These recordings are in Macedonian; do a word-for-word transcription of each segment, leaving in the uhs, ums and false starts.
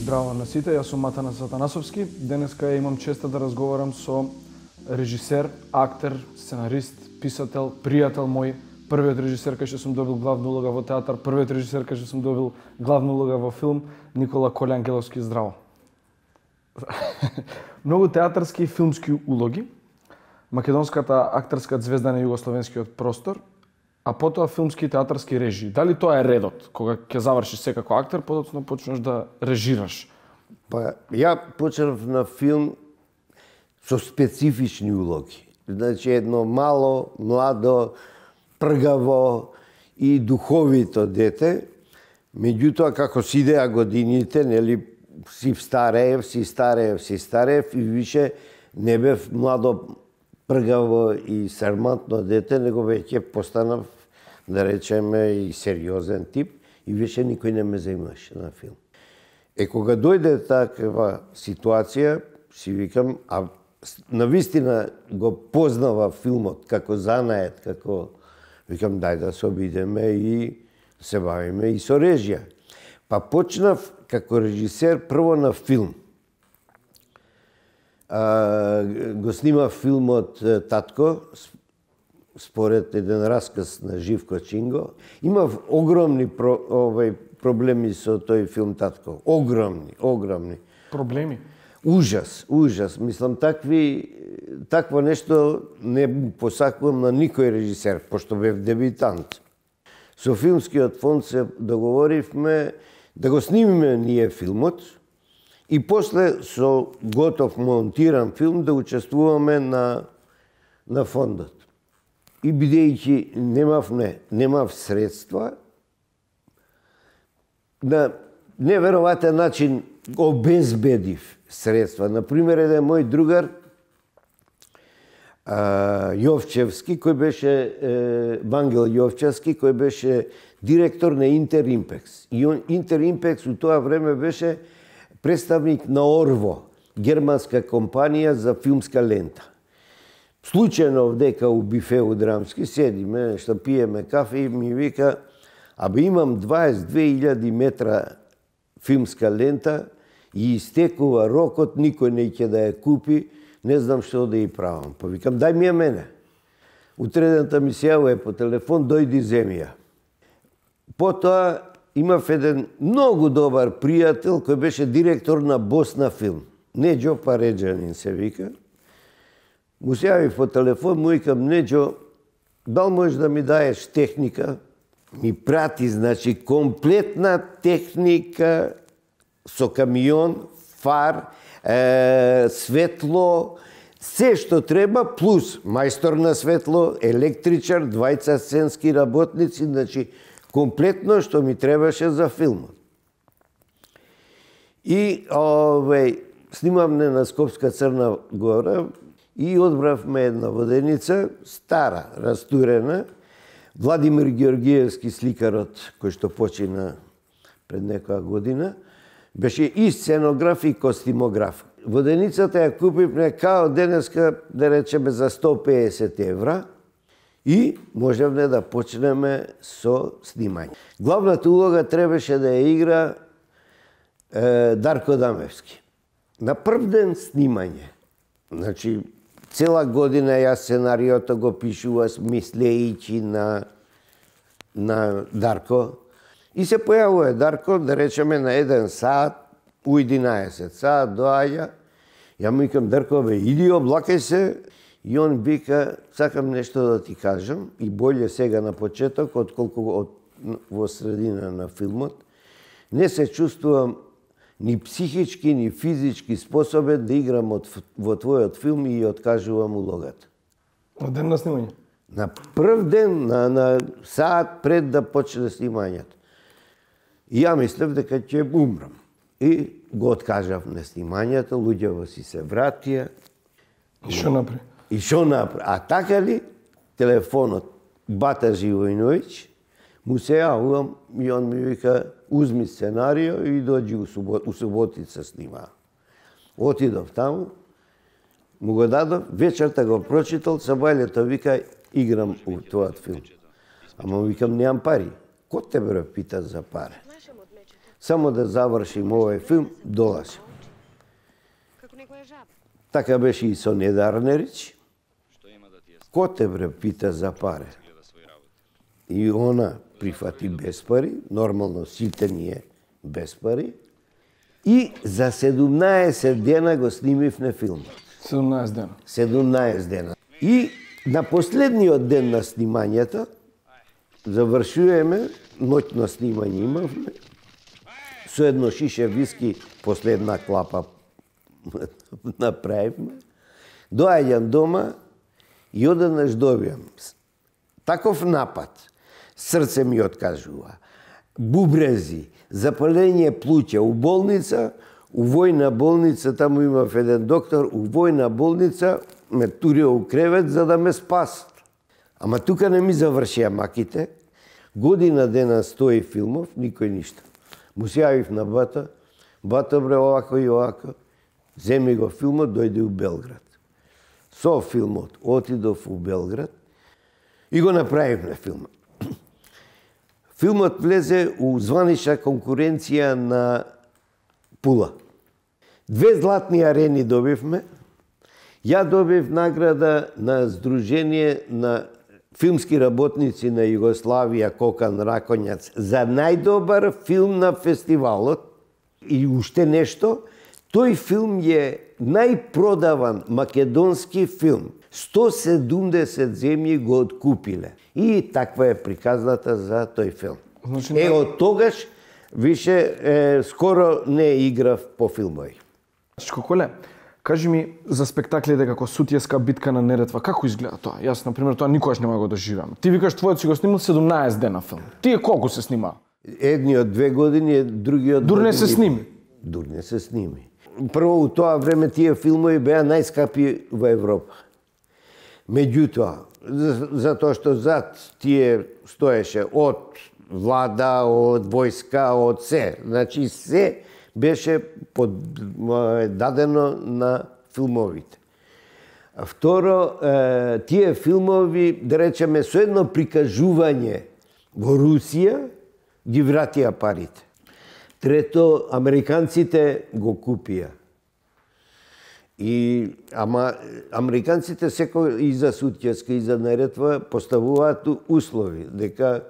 Здраво на сите, јас сум Матана Сатанасовски. Денеска имам честа да разговарам со режисер, актер, сценарист, писател, пријател мој, првиот режисер кај што сум добил главна улога во театар, првиот режисер кај што сум добил главна улога во филм, Никола Колјангеловски. Здраво. Многу театарски и филмски улоги, македонската актерска звезда на југословенскиот простор, а потоа филмски и театарски режии. Дали тоа е редот? Кога ќе завршиш секако актер, подоцна почнеш да режираш? Па, ја почнав на филм со специфични улоги. Значи, едно мало, младо, пргаво и духовито дете. Меѓутоа, како си идеа годините, нели, си стареев, си стареев, си стареев и више не бев младо, пргаво и сармантно дете, него веќе постанав, да речеме, и сериозен тип, и више никој не ме заимаше на филм. Е, кога дојде таква ситуација, си викам, а навистина го познава филмот како занаед, како, викам, дај да се обидеме и се бавиме и со режија. Па почнав како режисер прво на филм. А, го снимав филмот Татко, според еден расказ на Живко Чинго. Имав огромни про, овај, проблеми со тој филм Татко. Огромни, огромни. Проблеми? Ужас, ужас. Мислам, такви, такво нешто не посакувам на никој режисер, пошто бев дебитант. Со филмскиот фонд се договоривме да го снимиме ние филмот и после со готов монтиран филм да учествуваме на, на фондот. И бидејќи немав, не, немав средства, на неверојатен начин обезбедив средства. Например, еден мој другар, а, Јовчевски, кој беше, е, Вангел Јовчевски, кој беше директор на Интеримпекс. И он, Интеримпекс у тоа време беше представник на Орво, германска компанија за филмска лента. Случајно вдека у бифеу драмски седиме, што пиеме кафе и ми вика, абе имам дваесет две илјади метра филмска лента и истекува рокот, никој не ќе да ја купи, не знам што да ја правам. Па викам, дај ми ја мене. Утредента ми се јавува по телефон, дојди земи ја. Потоа имав еден многу добар пријател кој беше директор на Босна филм. Неđо Пареджанин се вика. Му се јави по телефон, му викам, Неđо, дал можеш да ми даеш техника? Ми прати, значи, комплетна техника со камион, фар, е, светло, се што треба, плюс мајстор на светло, електричар, двајца сценски работници, значи, комплетно што ми требаше за филмот. И, овеј, снимавме на Скопска Црна Гора и одбравме една воденица, стара, растурена, Владимир Георгиевски, сликарот, кој што почина пред некоја година, беше и сценограф и костимограф. Воденицата ја купивме као денеска, да речеме, за сто пеесет евра и можевме да почнеме со снимање. Главната улога требаше да ја игра е, Дарко Дамевски. На прв ден снимање, значи, цела година јас сценариото го пишував мислејќи на, на Дарко. И се појавува Дарко, да речеме, на еден саат, у единаесет саат доаѓа. Ја му викам, Дарко, бе, иди, облакај се. И он вика, сакам нешто да ти кажам, и болje сега на почеток, отколку од, во средина на филмот. Не се чувствувам ни психички, ни физички способен да играм од, во твојот филм и откажувам улогата. На ден на снимање? На прв ден, на, на саат пред да почне снимањето. И ја мислев дека ќе умрам. И го откажав на снимањето, луѓето си се вратија. И што направи? И што направи? А така ли, телефонот Бата Живојновиќ, му се јавувам и он ми вика, узми сценарио и доđi у, субот, у Суботица снима. Отидов таму, му го дадов, вечерта го прочитал, сабајлето вика, играм у твојот филм. Ама викам, немам пари. Ко тебе ме пита за пари? само да завршим овој филм, долазим. Така беше и со Неда Арнерич. Ко те бре пита за пари? И она прифати без пари, нормално сите ние без пари. И за седумнаесет дена го снимивме филмот. седумнаесет дена. седумнаесет дена. И на последниот ден на снимањето, завршуваме, ноќно снимање имавме, со едно шише виски, последна клапа направивме. Доаѓам дома и одеднаш добијам таков напад. Срце ми откажува. Бубрези, запалење плуќа у болница, у војна болница, таму имав еден доктор, у војна болница ме турио у кревет за да ме спасат. Ама тука не ми завршија маките. Година дена стои филмов, никој ништо. Му се јавив на бата, бата бре овако и овако, земи го филмот, дојде у Белград. Со филмот отидов у Белград и го направивме филмот. Филмот влезе у званична конкуренција на Пула. Две златни арени добивме. Ја добив награда на Сдружение на филмски работници на Југославија Кокан Раконјац за најдобар филм на фестивалот. И уште нешто, тој филм е најпродаван македонски филм. сто седумдесет земји го откупиле. И таква е приказната за тој филм. Значи, е, од тогаш више е, скоро не играв по филмови. Коле, кажи ми за спектаклите како Сутјеска битка на Неретва, како изгледа тоа? Јас, например, тоа никогаш нема го доживам. Ти викаш твојот си го снимал седумнаесет дена филм. Тие колку се снима? Едниот две години, другиот... Дур не се сними? Дур не се сними. Прво, у тоа време тие филмови беа најскапи во Европа. Меѓутоа, затоа што зад тие стоеше од влада, од војска, од се. Значи, се беше под, дадено на филмовите. Второ, тие филмови, да речеме, со едно прикажување во Русија, ги вратија парите. Трето, американците го купија. И, ама, американците секој и за Сутјеска и за Неретва поставуваат услови, дека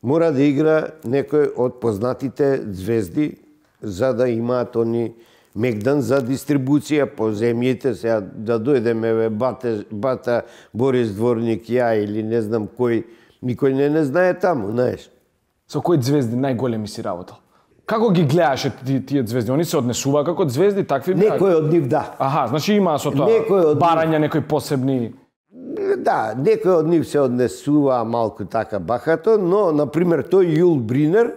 мора да игра некој од познатите звезди, за да имаат они мегдан за дистрибуција по земјите, сега да дојдеме бе, бате, бата Борис Дворник, ја или не знам кој, никој не не знае таму, знаеш. Со кои звезди најголеми си работал? Како ги гледаше тие звезди? Они се однесува како звезди, такви беа? Некој од нив да. Аха, значи има со тоа барања, некои посебни... Да, некој од нив се однесува малку така бахато, но, например, тој Јул Бринер,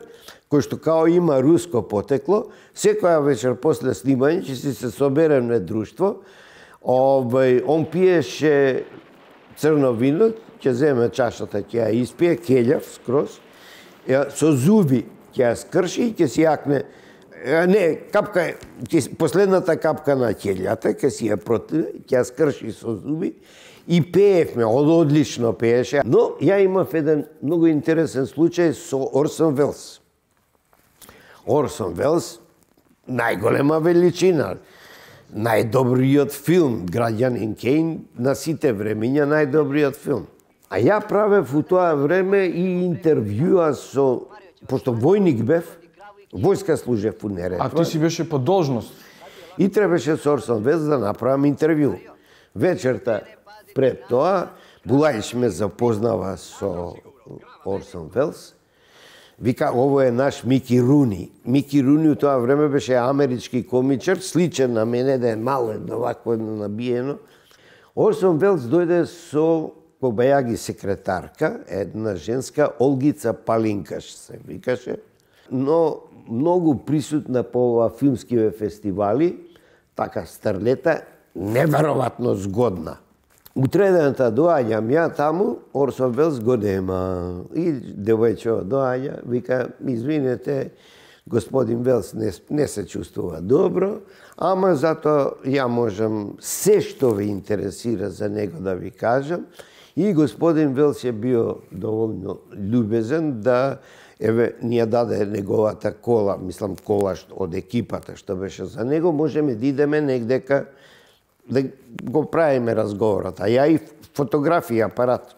кој што као има руско потекло, секоја вечер после снимање ќе си се собереме друштво, овај, он пиеше црно вино, ќе земе чашата, ќе ја испие, келјав скроз, со зуби ќе ја скрши и ќе си јакне, не, капка, последната капка на келјата, ќе си ја противе, ќе ја скрши со зуби и пеевме, одлично пееше. Но ја имав еден многу интересен случај со Орсон Велс. Орсон Велс, најголема величина, најдобриот филм, Граѓанин Кейн, на сите времиња најдобриот филм. А ја правев у тоа време и интервјуа со, пошто војник бев, војска служев у Неретва. А ти си беше по должност? И требаше со Орсон Велс да направам интервју. Вечерта пред тоа, Булајш ме запознава со Орсон Велс. Вика, ово е наш Мики Руни. Мики Руни у тоа време беше амерички комичар, сличен на мене, да е мало едно вакво едно набиено. Орсон Велс дојде со кобајаги секретарка, една женска, Олгица Палинкаш се викаше, но многу присутна по ова филмскиве фестивали, така старлета, неверојатно згодна. Утредената доаѓам ја таму, Орсон Велс го нема. И девојче доаѓа, вика, извинете, господин Велс не, не се чувствува добро, ама зато ја можам се што ве интересира за него да ви кажам. И господин Велс е био доволно љубезен да еве, ни ја даде неговата кола, мислам кола од екипата што беше за него, можеме да идеме негдека да го правиме разговорот. А ја и фотографија апарат.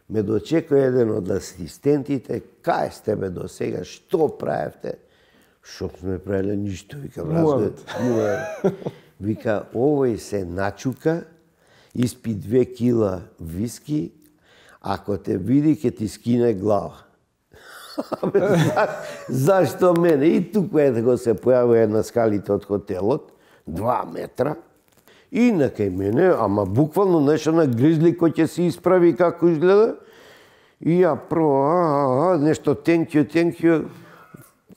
Ме дочекува еден од асистентите, кај сте бе до сега, што правевте? Што сме правиле, ништо, викам, разглед. Вика, овој се начука, испи две кила виски, ако те види, ќе ти скине глава. За, зашто мене? И туку е го се појавува на скалите од хотелот, два метра, и на кај мене, ама буквално нешто на гризли кој ќе се исправи како изгледа. И ја прво, а, а, нешто thank you, thank you.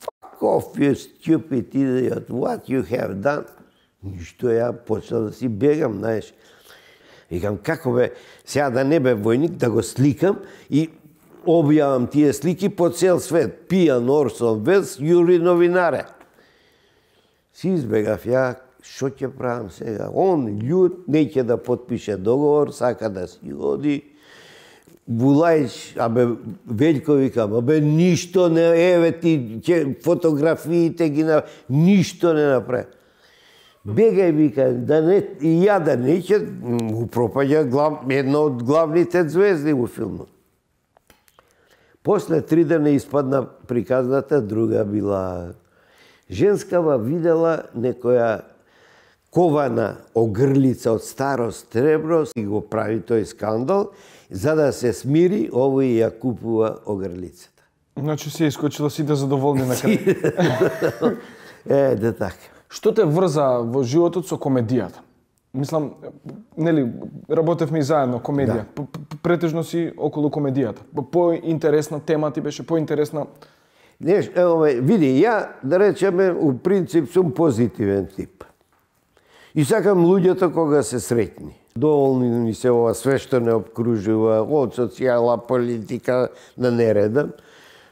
Fuck off, you stupid idiot, what you have done. Ништо, ја почна да си бегам, знаеш. Викам, како бе, сега да не бе војник, да го сликам и објавам тие слики по цел свет. Пијан Орсон Велс, Јури новинаре. Си избегав ја, што ќе правам сега? Он људ, неќе да потпише договор, сака да си оди. Булајч, абе, Велјко вика, абе, ништо не, еве ти, ќе, фотографиите ги на... Ништо не направи. Бегај, вика, да не, и ја да не ќе, му пропаѓа глав, една од главните звезди во филмот. После три дена испадна приказната, друга била... Женскава видела некоја кована огрлица од старо сребро и го прави тој скандал, за да се смири, овој ја купува огрлицата. Значи се искочила сите задоволни на крај. Е, да така. Што те врза во животот со комедијата? Мислам, нели, работевме и заедно комедија. Да. Претежно си околу комедијата. Поинтересна тема ти беше, поинтересна... Не, еве, види, ја, да речеме, у принцип сум позитивен тип. И сакам луѓето кога се среќни. Доволни ми се ова све што не обкружува, од социјала, политика, да не редам.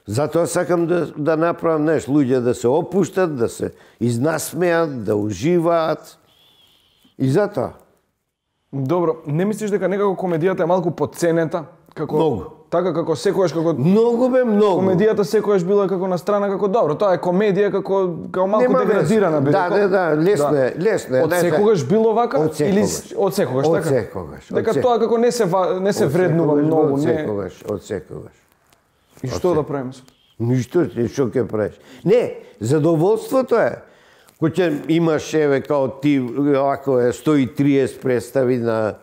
Затоа сакам да, да направам нешто, луѓе да се опуштат, да се изнасмеат, да уживаат. И затоа. Добро, не мислиш дека некако комедијата е малку подценета? Како... Многу. Така како секојаш како Многу бе, многу. Комедијата секојаш била како на страна како добро, тоа е комедија како како малку Нема деградирана бе. Да, да, да, лесно е, лесно е. Од секогаш било вака од или секогаш. од секогаш така? Од секогаш. Дека тоа како не се не се вреднува многу, не. не. Од секогаш, од секогаш. И што да правиме? Ништо, што ќе правиш? Не, задоволството е. Кој ќе имаш еве као ти ако е сто и триесет представи на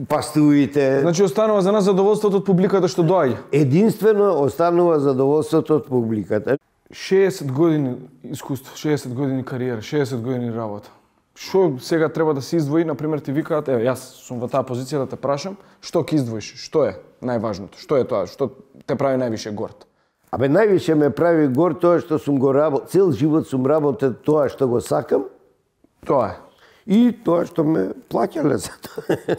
пастуите. Значи останува за нас задоволството од публиката што доаѓа. Единствено останува задоволството од публиката. шеесет години искуство, шеесет години кариера, шеесет години работа. Што сега треба да се издвои, на пример ти викаат, еве јас сум во таа позиција да те прашам, што ќе издвоиш? Што е најважното? Што е тоа што те прави највише горд? Абе највише ме прави горд тоа што сум го работел, цел живот сум работел тоа што го сакам. Тоа е. И тоа што ме плаќале за тоа.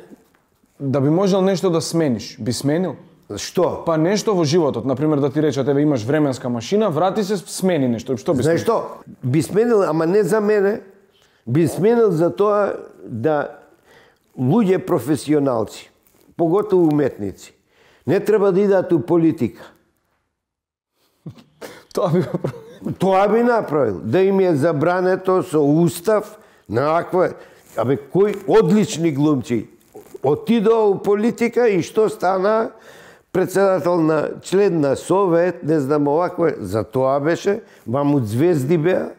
Да би можел нешто да смениш, би сменил? Што? Па нешто во животот, на пример да ти речат еве имаш временска машина, врати се, смени нешто. Што би сменил? Знаеш што? Би сменил, ама не за мене. Би сменил за тоа да луѓе професионалци, поготово уметници, не треба да идат у политика. Тоа би го направил. Тоа би направил. Да им е забрането со устав на аква... Абе, кои одлични глумци отидоа у политика и што стана председател на член на Совет, не знам овакво, за тоа беше, мамут звезди беа.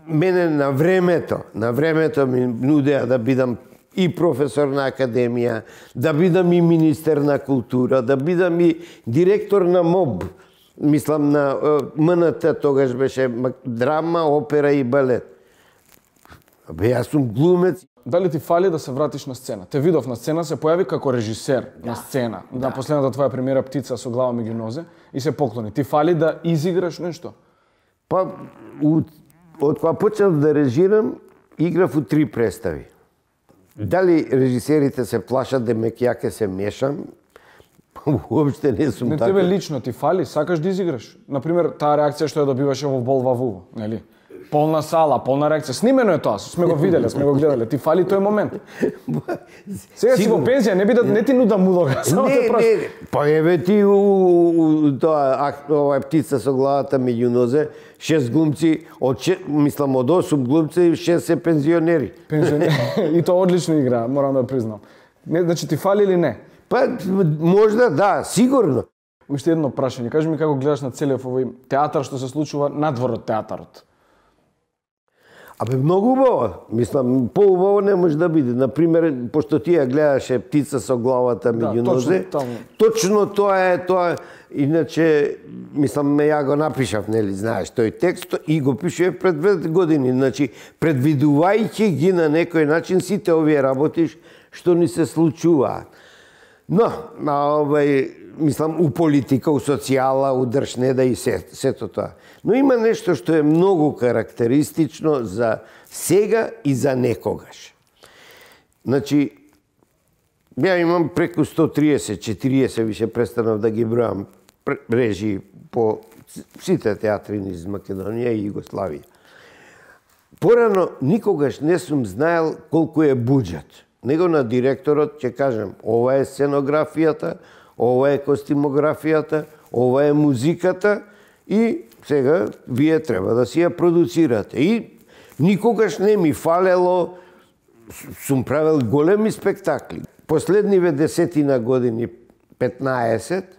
Мене на времето, на времето ми нудеа да бидам и професор на академија, да бидам и министер на култура, да бидам и директор на МОБ. Мислам на МНТ, тогаш беше драма, опера и балет. Абе, јас сум глумец. Дали ти фали да се вратиш на сцена? Те видов на сцена, се појави како режисер да. на сцена. Да. На последната твоја премиера Птица со глава меѓу нозе и се поклони. Ти фали да изиграш нешто? Па, од кога почнав да режирам, играв у три представи. Дали режисерите се плашат да ме ќе ќе се мешам? Уопште не сум не, така. Не тебе лично ти фали, сакаш да изиграш. Например, таа реакција што ја добиваше во Бол Ваву, нели? полна сала, полна реакција. Снимено е тоа, сме го виделе, сме го гледале. Ти фали тој момент. Сега си во пензија, не би да не ти нудам улога, само не, те прашам. Не, па еве ти у, у тоа ова птица со главата меѓу нозе, шест глумци, од мислам од осум глумци, шест се пензионери. Пензионери. И тоа одлично игра, морам да признам. Не, значи ти фали или не? Па можда да, сигурно. Уште едно прашање, кажи ми како гледаш на целиот овој театар што се случува надвор од театарот? Абе, многу убаво. Мислам, поубаво не може да биде. Например, пошто ти ја гледаше птица со главата меѓу да, нозе, точно, точно тоа е тоа. Иначе, мислам, ја го напишав, нели, знаеш, тој текст и го пишував пред две години. Значи, предвидувајќи ги на некој начин сите овие работи што ни се случуваат. Но, на овај, мислам, у политика, у социјала, у држнеда и се, сето тоа. Но има нешто што е многу карактеристично за сега и за некогаш. Значи, ја имам преку сто триесет четириесет, више престанав да ги бројам режии по сите театри низ Македонија и Југославија. Порано никогаш не сум знаел колку е буџет. Него на директорот ќе кажем, ова е сценографијата, ова е костимографијата, ова е музиката и сега вие треба да си ја продуцирате. И никогаш не ми фалело, сум правил големи спектакли. Последниве десетина години, петнаесет,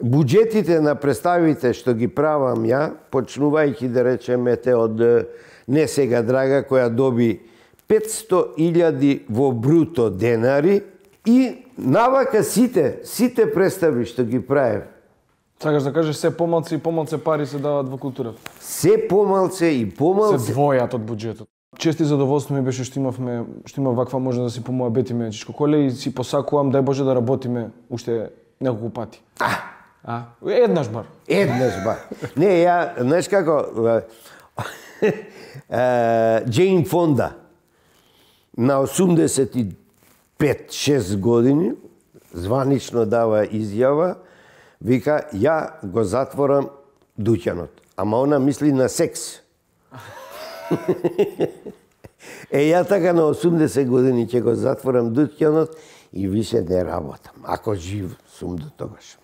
буџетите на представите што ги правам ја, почнувајќи да речеме те од Не сега драга, која доби петсто илјади во бруто денари и навака сите, сите представи што ги правев. Сакаш да кажеш се помалце и помалце пари се дават во културата? Се помалце и помалце. Се двојат од буџетот. Чести задоволство ми беше што имавме, што има ваква можност да си помоабетиме Чичко Коле и си посакувам дај Боже да работиме уште неколку пати. А, а еднаш бар. Еднаш бар. Не, ја, знаеш како, Джейн Фонда на осумдесет и пет шест години званично дава изјава, вика, ја го затворам дуќанот. Ама она мисли на секс. Е, ја така на осумдесет години ќе го затворам дуќанот и више не работам. Ако жив сум до тогаш.